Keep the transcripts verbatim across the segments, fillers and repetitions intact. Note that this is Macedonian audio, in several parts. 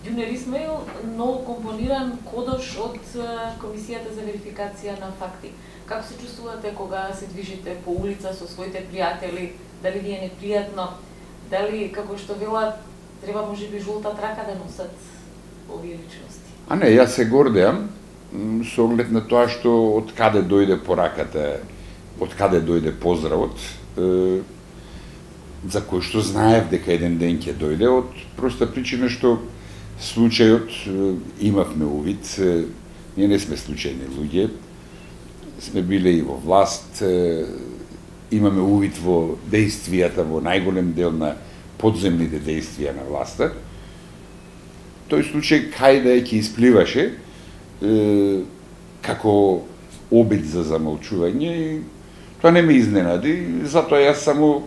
Јунер Исмаил, ново компониран кодош од Комисијата за верификација на факти. Како се чувствувате кога се движите по улица со своите пријатели? Дали ви е непријатно? Дали, како што велат, треба можеби жолта трака да носат овие личности? А не, јас се гордеам со оглед на тоа што од каде дојде пораката, од каде дојде поздравот, е, за кој што знаев дека еден ден ќе дојде, од проста причина што случајот е, имавме увид, е, ние не сме случајни луѓе, сме биле и во власт, е, имаме увид во дејствијата, во најголем дел на подземните дејствија на власта. Тој случај кај да ќе испливаше е, како обид за замолчување и тоа не ме изненади, затоа јас само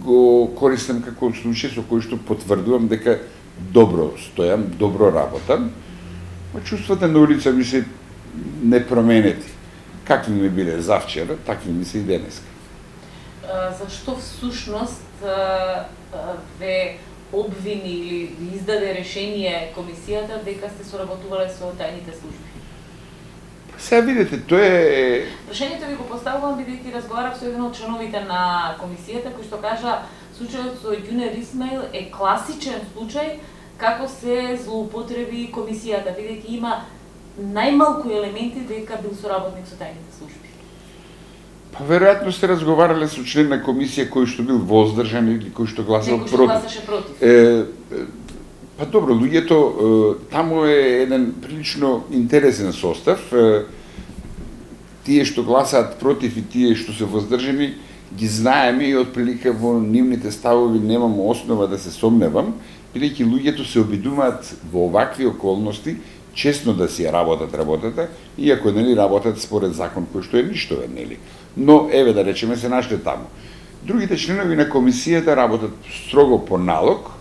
го користам како случај со кој што потврдувам дека добро стојам, добро работам, но чувствата на улица ми се непроменети. Какви ми биле завчера, такви ми се и денеска. Зашто всушност ве обвини или ви издаде решение комисијата дека сте соработувале со тајните служби? Сега видите, тоа е... Прашањето ви го поставувам бидејќи разговарав со еден од членовите на комисијата кој што кажа случајот со Јунер Исмаил е класичен случај како се злоупотреби комисијата, бидејќи има најмалку елементи дека бил соработник со тајните служби. Па веројатно сте разговарале со член на комисија кој што бил воздржан или кој што гласал против. Некој што гласаше против. Е, па добро, луѓето, е, таму е еден прилично интересен состав. Е, тие што гласаат против и тие што се воздржани ги знаеме и отприлика во нивните ставови немам основа да се сомневам, бидејќи луѓето се обидуваат во овакви околности честно да си ја работат работата, иако нели работат според закон кој што е ништовен, нели. Но еве да речеме се нашле таму. Другите членови на комисијата работат строго по налог,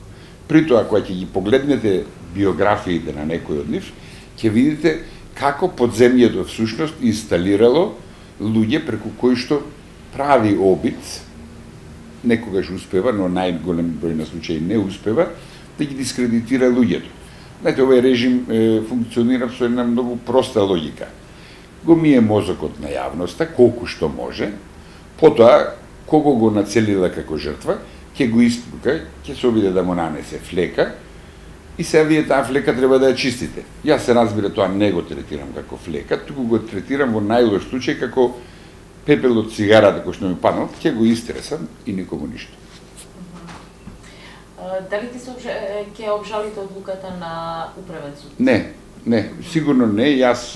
при тоа кога ќе ги погледнете биографиите на некој од нив, ќе видите како подземјето всушност инсталирало луѓе преку кои што прави обид, некогаш успева, но најголем број на случаи не успева, да ги дискредитира луѓето. Знаете, овој режим е, функционира со една многу проста логика. Го мие мозокот на јавноста, колку што може, потоа, кого го нацелила како жртва, ќе го испука, ќе се обиде да му нанесе флека, и сега вие таа флека треба да ја чистите. Јас се разбира тоа не го третирам како флека, туку го третирам во најлош случај како пепел од цигарата кој што ми паднал, ќе го истресам и никому ништо. Дали ти се ќе обжалите одлуката на управен суд? Не, не, сигурно не. Јас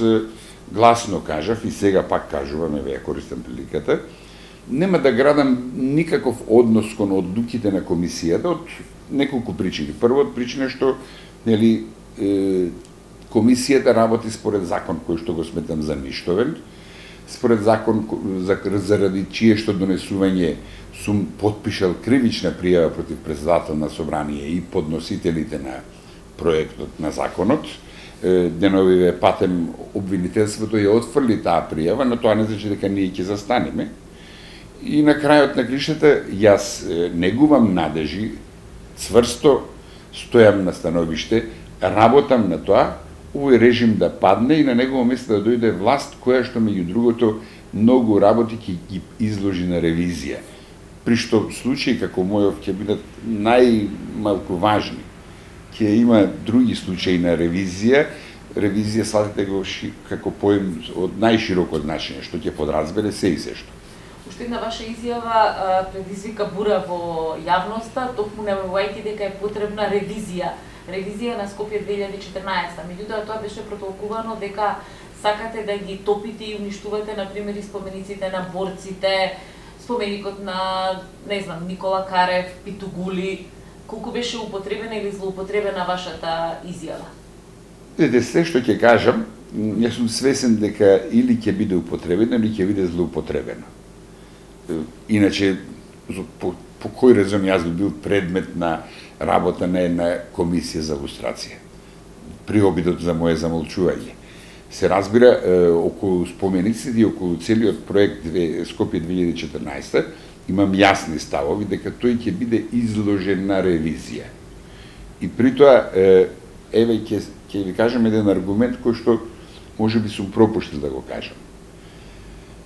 гласно кажав и сега пак кажувам, еве ја користам приликата, нема да градам никаков однос кон одлуките на комисијата од неколку причини. Прво, од причина што нели е, комисијата работи според закон кој што го сметам за ништовен, според закон за, заради чие што донесување сум потпишал кривична пријава против председател на собрание и подносителите на проектот на законот. Деновиве патем обвинителството ја отфрли таа пријава, но тоа не значи дека ние ќе застанеме. И на крајот на кришата јас негувам надежи, цврсто стојам на становиште, работам на тоа, овој режим да падне и на негово место да дојде власт која што меѓу другото многу работи ќе ги изложи на ревизија. При што случаи како мојов ќе бидат најмалку важни. Ќе има други случаи на ревизија, ревизија сватете го ши, како поем од најширокот значење, што ќе подразбере се и се што. Уште една ваша изјава предизвика бура во јавноста, токму најавувајќи дека е потребна ревизија. Ревизија на Скопје две илјади и четрнаесетта. Меѓутоа тоа беше протолкувано дека сакате да ги топите и уништувате на пример спомениците на борците, споменикот на, не знам, Никола Карев, Питугули. Колку беше употребена или злоупотребена вашата изјава? Видете, се што ќе кажам, јас сум свесен дека или ќе биде употребено, или ќе биде злоупотребено. Иначе, по, по кој резон јас би бил предмет на работа на една комисија за лустрација, при обидот за моје замолчување. Се разбира, околу спомениците и околу целиот проект Скопје две илјади и четрнаесетта имам јасни ставови дека тој ќе биде изложен на ревизија. И при тоа, еве, ќе ќе ви кажам еден аргумент кој што може би сум пропуштил да го кажам.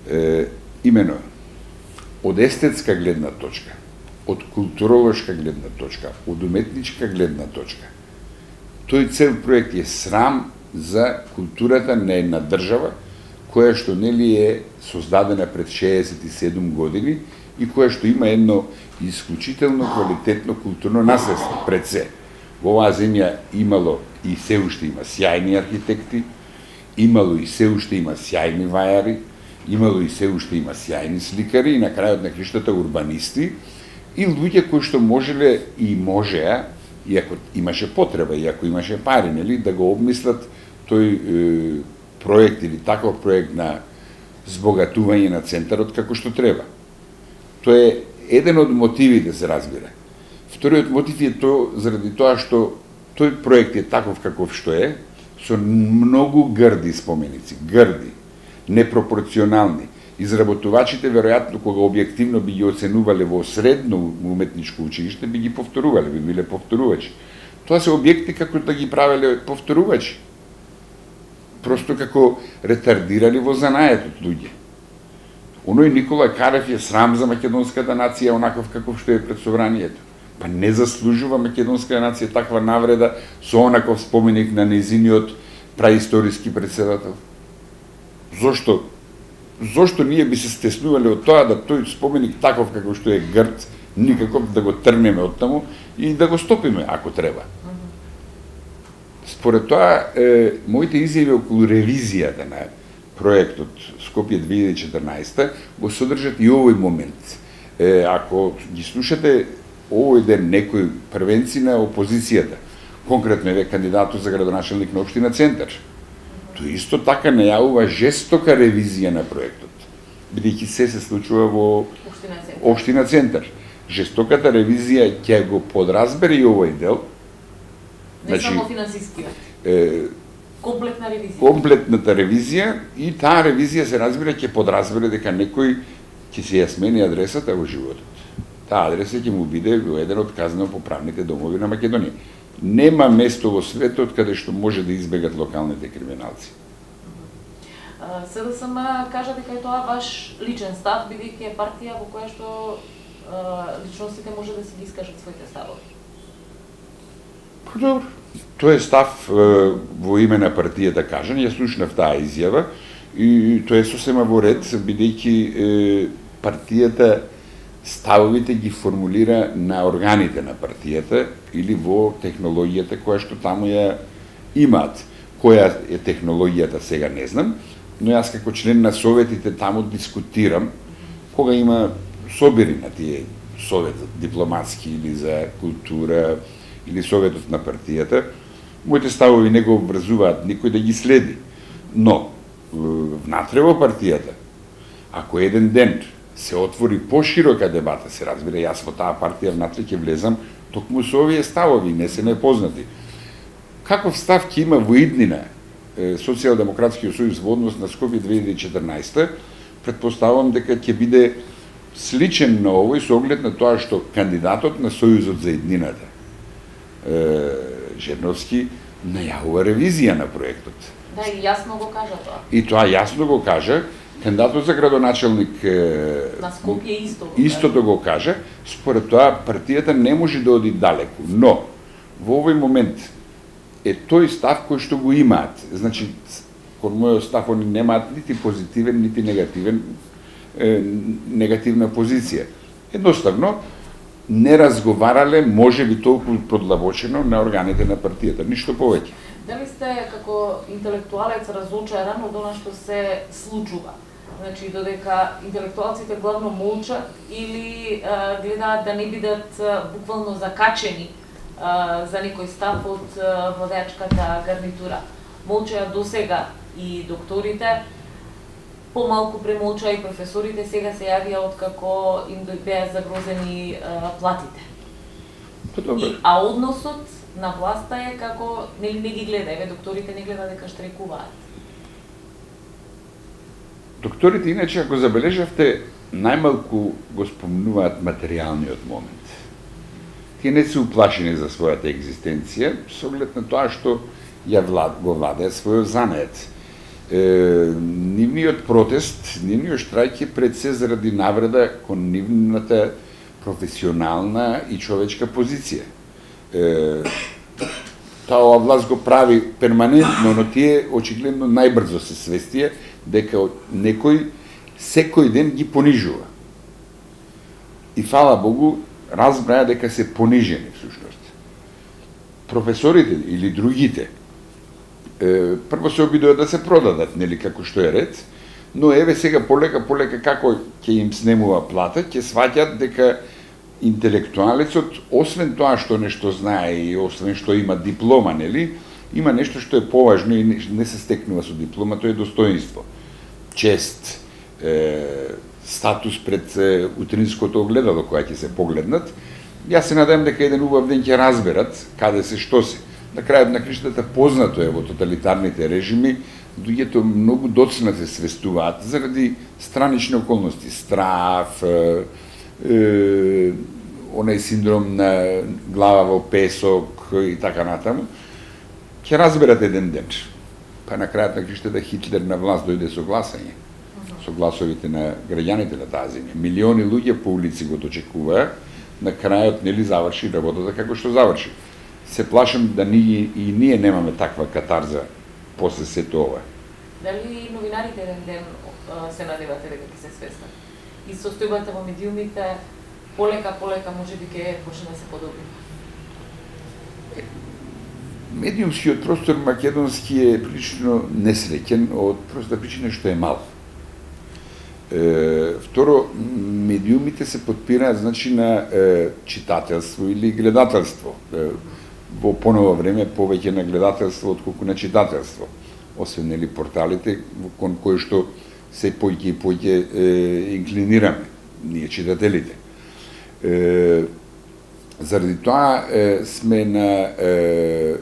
Е, имено, од естетска гледна точка, од културолошка гледна точка, од уметничка гледна точка, тој цел проект е срам за културата на една држава која што нели е создадена пред шеесет и седум години и која што има едно исклучително квалитетно културно наследство пред се. Во оваа земја имало и се уште има сјајни архитекти, имало и се уште има сјајни вајари, имало и се уште има сјајни сликари и на крајот на криштата урбанисти и луѓе кои што можеле и можеа, иако имаше потреба, иако имаше пари, нели, да го обмислат тој е, проект или таков проект на збогатување на центарот како што треба. Тоа е еден од мотивите, се разбира. Вториот мотив е тоа заради тоа што тој проект е таков каков што е, со многу грди споменици, грди, непропорционални. Изработувачите, веројатно, кога објективно би ги оценувале во средно уметничко училиште, би ги повторувале, би биле повторувачи. Тоа се објекти како да ги правеле повторувачи. Просто како ретардирали во занаетот луѓе. Оној Никола Карев е срам за македонската нација, онаков каков што е пред собранието. Па не заслужува македонската нација таква навреда со онаков споменик на незиниот праисториски председател. Зошто? Зошто ние би се стеснувале од тоа да тој споменик таков како што е грд, никако да го трнеме од таму и да го стопиме ако треба. Според тоа, е, моите изјави околу ревизијата на проектот Скопје две илјади и четрнаесета го содржат и овој момент. Е, ако ги слушате овој ден некои првенци на опозицијата, конкретно е кандидатот за градоначелник на општина Центар, тој исто така најавува жестока ревизија на проектот, бидејќи се се случува во општина Центар. Жестоката ревизија ќе го подразбере и овој дел. Не значи, само финансискиот. Комплетна ревизија. Комплетната ревизија и таа ревизија се разбира ќе подразбере дека некој ќе се ја смени адресата во животот. Таа адреса ќе му биде во еден од казнено-поправните домови на Македонија. Нема место во светот каде што може да избегат локалните криминалци. СДСМ кажа дека е тоа ваш личен став, бидејќи е партија во која што личностите може да си ги искажат своите ставови. Добро. Тој е став е, во име на партијата кажан, ја слушнав таа изјава и тоа е сосема во ред, бидејќи партијата ставовите ги формулира на органите на партијата или во технологијата која што таму ја имаат. Која е технологијата сега не знам, но јас како член на советите таму дискутирам кога има собери на тие советот дипломатски или за култура или советот на партијата, моите ставови не го обврзуваат никој да ги следи. Но внатре во партијата, ако еден ден се отвори поширока дебата, се разбира, јас во таа партија внатре ќе влезам токму со овие ставови, не се непознати. Каков став ќе има во иднина Социјалдемократскиот сојуз во однос на Скопје две илјади и четрнаесета, предпоставувам дека ќе биде сличен на овој со оглед на тоа што кандидатот на Сојузот за иднината, Жерновски, најавува ревизија на проектот. Да, и јасно го кажа тоа. И тоа јасно го кажа. Кандидатот за градоначелник на Скопје исто го истото го кажа. Според тоа партијата не може да оди далеку, но во овој момент е тој став кој што го имаат. Значи, кон мојот став они немаат нити позитивен, нити негативен е, негативна позиција. Едноставно не разговарале, може би толку продлабочено на органите на партијата, ништо повеќе. Дали сте како интелектуалец разочаран од она што се случува? Значи, додека интелектуалците главно молчат или а, гледаат да не бидат а, буквално закачени а, за некој став од а, водачката гарнитура. Молчаат досега и докторите, помалку премолчаа и професорите, сега се јавија откако им беа загрозени а, платите. И, а односот на власта е како нели не ги гледа, еве докторите не гледа дека штрекуваат. Докторите иначе, ако забележавте, најмалку го спомнуваат материјалниот момент. тие не се уплашени за својата екзистенција, со оглед на тоа што ја влад, го владее својот занет. Е, нивниот протест, нивниот штрајк е пред се заради навреда кон нивната професионална и човечка позиција. Е, таа ова власт го прави перманентно, но тие очигледно најбрзо се свестија дека некој секој ден ги понижува. И фала Богу, разбраја дека се понижени всушност. Професорите или другите е, прво се обидува да се продадат, нели, како што е ред, но еве сега полека полека како ќе им снемува плата, ќе сваќат дека интелектуалецот, освен тоа што нешто знае и освен што има диплома, нели, има нешто што е поважно и не се стекнува со диплома, тоа е достоинство, чест, е, статус пред е, утринското огледало која ќе се погледнат. Јас се надевам дека еден убав ден ќе разберат каде се, што се. На крајот на криштата познато е во тоталитарните режими, луѓето многу доцна се свестуваат заради странични околности, страф, е, е, онај синдром на глава во песок и така натаму. Ќе разберат еден ден. Па на крајот на криштата Хитлер на власт дојде со гласање, со гласовите на граѓаните на таа земја. Милиони луѓе по улици го дочекуваа, на крајот нели заврши работата како што заврши. Се плашам да ние и ние немаме таква катарза после сето ова. Дали новинарите еден ден се надевате дека ќе се свестат? И состојбата во медиумите полека полека можеби ќе почне да се подобри? Медиумскиот простор македонски е прилично несреќен од проста причина што е мал. Е, второ, медиумите се подпираат значи на е, читателство или гледателство. Е, во поново време повеќе на гледателство отколку на читателство. Освен нели порталите кон кои што се поќе и поќе е, инклинираме ние читателите. Е, заради тоа е, сме на е,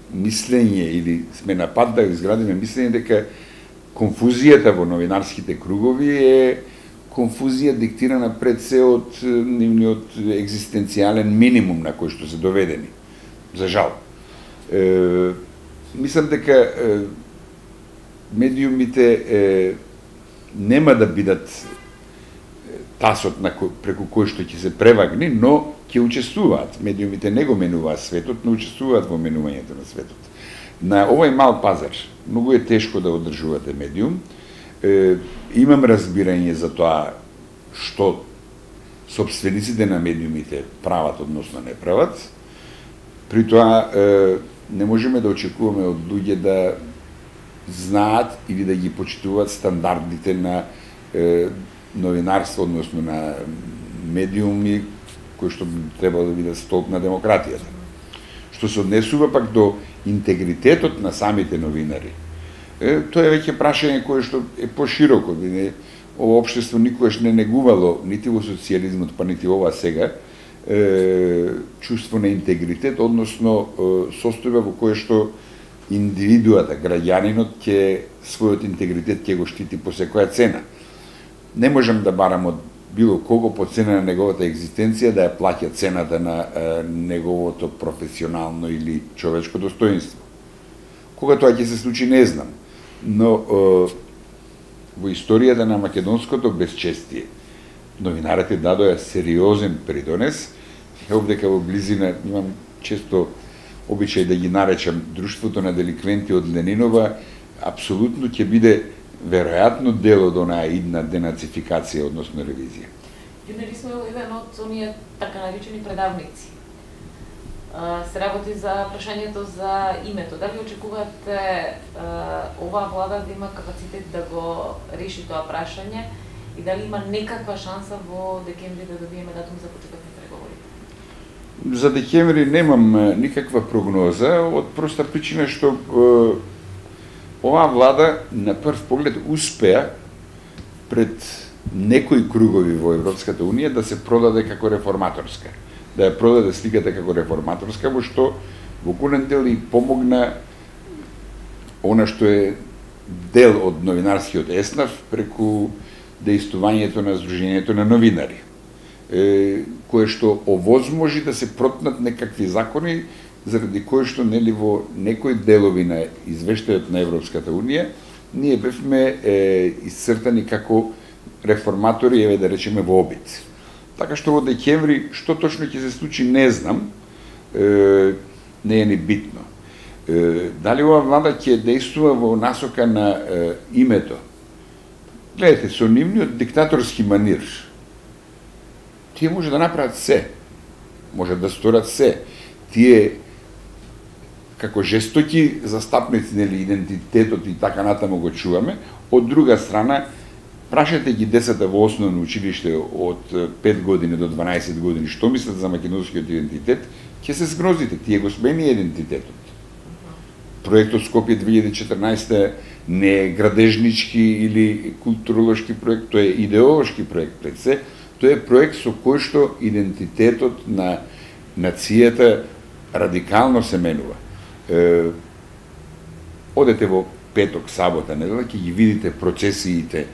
мислење или сме на пат да изградиме мислење дека конфузијата во новинарските кругови е конфузија диктирана пред се од нивниот екзистенцијален минимум на кој што се доведени. За жал. Е, мислам дека е, медиумите е, нема да бидат тасот на ко, преку кој што ќе се превагни, но ќе учествуваат. Медиумите не го менуваат светот, но учествуваат во менувањето на светот. На овој мал пазар многу е тешко да одржувате медиум. Е, имам разбирање за тоа што собствениците на медиумите прават, односно не прават. При тоа е, не можеме да очекуваме од луѓе да знаат или да ги почитуваат стандардите на е, новинарство, односно на медиуми кои што треба да бидат столб на демократијата. Што се однесува пак до интегритетот на самите новинари. Е, тоа е веќе прашање кое што е пошироко. Ова општество никогаш не негувало, нити во социјализмот, па нити ова сега, е, чувство на интегритет, односно е, состојба во кое што индивидуата, граѓанинот, ќе својот интегритет ќе го штити по секоја цена. Не можам да барам од било кого по цена на неговата екзистенција да ја плаќа цената на е, неговото професионално или човечко достоинство. Кога тоа ќе се случи, не знам. Но е, во историјата на македонското безчестие, новинарите дадоа сериозен придонес. Овдека во близина имам често обичај да ги наречам друштвото на деликвенти од Ленинова, апсолутно ќе биде веројатно дел од онаа идна денацификација, односно ревизија. Јунери сме еден од оние така наречени предавници. Се работи за прашањето за името. Дали очекувате оваа влада да има капацитет да го реши тоа прашање и дали има некаква шанса во декември да добиеме датум за почеток на преговори? За декември немам никаква прогноза, од проста причина што е, оваа влада на прв поглед успеа пред некои кругови во Европската Унија да се продаде како реформаторска. Да ја продаде сликата како реформаторска, во што во голем дел и помогна она што е дел од новинарскиот еснав преку дејствувањето на Сдруженијето на новинари, е, кое што овозможи да се протнат некакви закони заради кои што нели во некои делови на извештајот на Европската Унија ние бевме е, исцртани како реформатори, еве да речеме во обид. Така што во декември што точно ќе се случи не знам, е, не е ни битно. Е, дали ова влада ќе действува во насока на е, името? Гледате, со нивниот диктаторски манир, тие може да направат се, може да сторат се. Тие како жестоки застапници нели идентитетот и така натаму го чуваме. Од друга страна, прашате ги децата во основно училиште од пет години до дванаесет години што мислат за македонскиот идентитет, ќе се згрозите, тие го смени идентитетот. Проектот Скопје две илјади и четрнаесетта не е градежнички или културолошки проект, тој е идеолошки проект пред се, тој е проект со кој што идентитетот на нацијата радикално се менува. Е, одете во петок, сабота, недела, ќе ги видите процесиите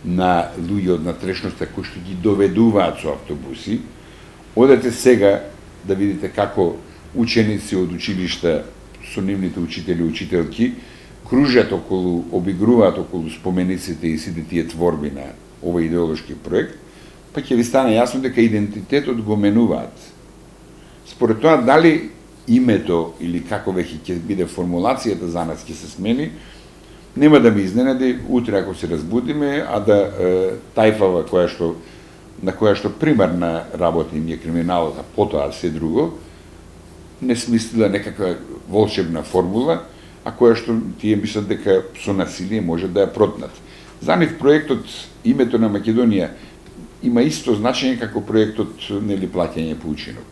на луѓе од натрешноста кои што ги доведуваат со автобуси. Одете сега да видите како ученици од училишта со нивните учители и учителки кружат околу, обигруваат околу спомениците и сите тие творби на овој идеолошки проект, па ќе ви стане јасно дека идентитетот го менуваат. Според тоа, дали името или како веќе ќе биде формулацијата за нас ќе се смени, нема да ме изненади утре ако се разбудиме, а да е, тајфава која што на која што примарна работа им е криминалот, а потоа се друго, не смислила некаква волшебна формула, а која што тие мислат дека со насилие може да ја протнат. За нив проектот името на Македонија има исто значење како проектот нели плаќање по учинок.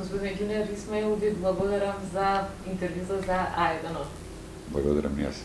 Господин Ѓунер Исмаил, ви благодарам за интервјута за А еден. Благодарам јас.